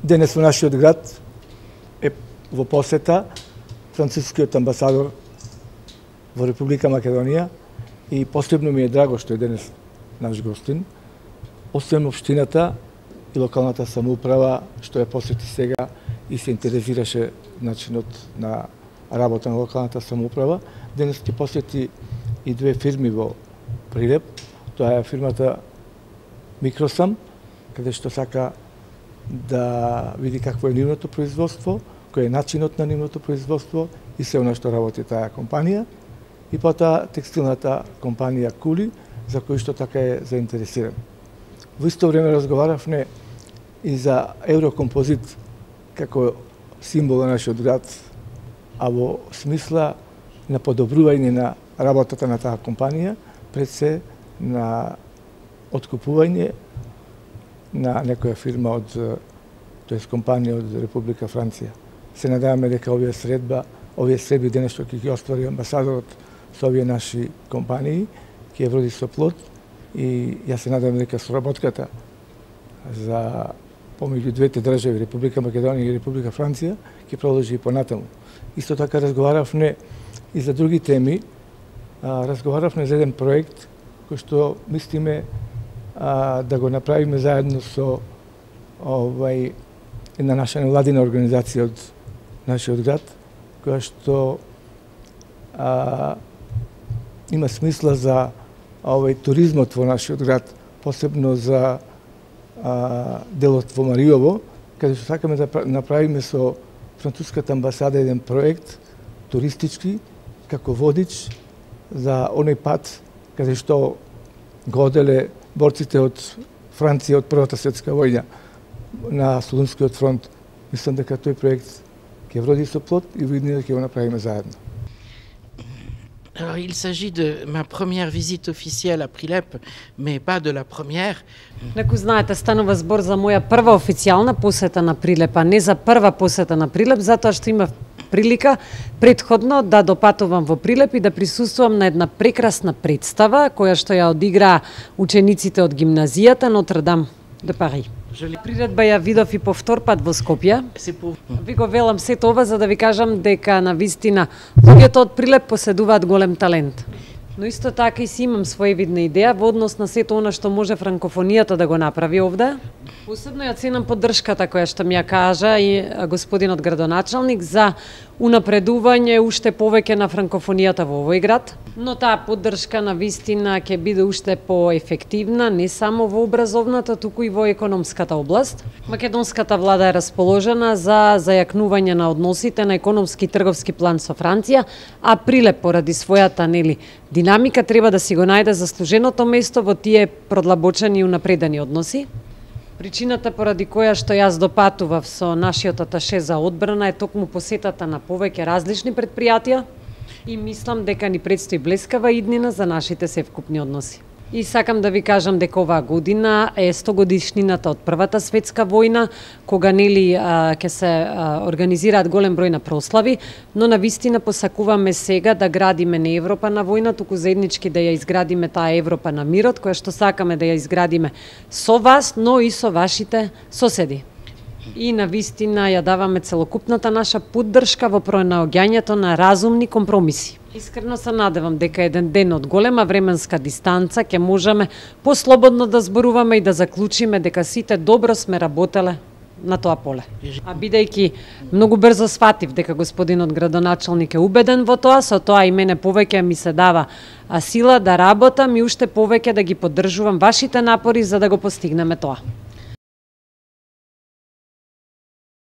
Денес во нашиот град е во посета францускиот амбасадор во Република Македонија и посебно ми е драго што е денес наш гостин. Освен општината и локалната самоуправа што ја посети сега и се интересираше начинот на работа на локалната самоуправа, денес ќе посети и две фирми во Прилеп. Тоа е фирмата Микросам, каде што сака да види какво е нивното производство, кој е начинот на нивното производство и се она што работи таа компанија. И потоа текстилната компанија Кули, за кој што така е заинтересиран. Во исто време разговаравме и за Еврокомпозит како символ на нашиот град, а во смисла на подобрување на работата на таа компанија, пред се на откупување на некоја фирма од, тоест компанија од Република Франција. Се надеваме дека овие средби денес што ќе ги оствари амбасадорот со овие наши компании, ќе ја вроди со плод и ја се надевам дека соработката за помеѓу двете држави, Република Македонија и Република Франција, ќе продолжи и понатаму. Исто така разговаравме и за други теми. Разговаравме за еден проект кој што мислиме да го направиме заедно со една наша невладина организација од нашиот град, која што има смисла за туризмот во нашиот град, посебно за делот во Мариово, каде што сакаме да направиме со француската амбасада еден проект туристички како водич за оној пат каде што го оделе борците од Франција од Првата светска војна на Солунскиот фронт. Мислам дека тој проект ќе вроди со плод и видно ќе го направиме заедно. Alors, il s'agit de ma première visite officielle à Prilep, mais pas de la première. Неку знаете, станува збор за моја прва официјална посета на Прилеп, а не за прва посета на Прилеп, затоа што имав прилика претходно да допатувам во Прилеп и да присуствувам на една прекрасна представа која што ја одигра учениците од гимназијата Нотр-Дам де Пари. Приредба ја видов и по втор пат во Скопје. Ви го велам сето ова за да ви кажам дека на вистина луѓето од Прилеп поседуваат голем талент. Но исто така и си имам своевидна идеја во однос на сето она што може франкофонијата да го направи овде. Посебно ја ценам поддршката која што ми ја кажа и господинот градоначалник за унапредување уште повеќе на франкофонијата во овој град. Но таа поддршка на вистина ќе биде уште поефективна не само во образовната, туку и во економската област. Македонската влада е расположена за зајакнување на односите на економски и трговски план со Франција, а Прилеп поради својата динамика треба да си го најде заслуженото место во тие продлабочени и унапредени односи. Причината поради која што јас допатував со нашиот аташе за одбрана е токму посетата на повеќе различни претпријатија и мислам дека ни предстои блескава иднина за нашите севкупни односи. И сакам да ви кажам дека оваа година е 100 годишнината од Првата светска војна, кога ќе се организираат голем број на прослави, но навистина посакуваме сега да градиме не Европа на војна, туку заеднички да ја изградиме таа Европа на мирот, која што сакаме да ја изградиме со вас, но и со вашите соседи. И навистина ја даваме целокупната наша поддршка во пронаоѓањето на разумни компромиси. Искрено се надевам дека еден ден од голема временска дистанца ќе можеме послободно да зборуваме и да заклучиме дека сите добро сме работеле на тоа поле. А бидејќи многу брзо сватив дека господинот градоначалник е убеден во тоа, со тоа и мене повеќе ми се дава сила да работам и уште повеќе да ги поддржувам вашите напори за да го постигнеме тоа.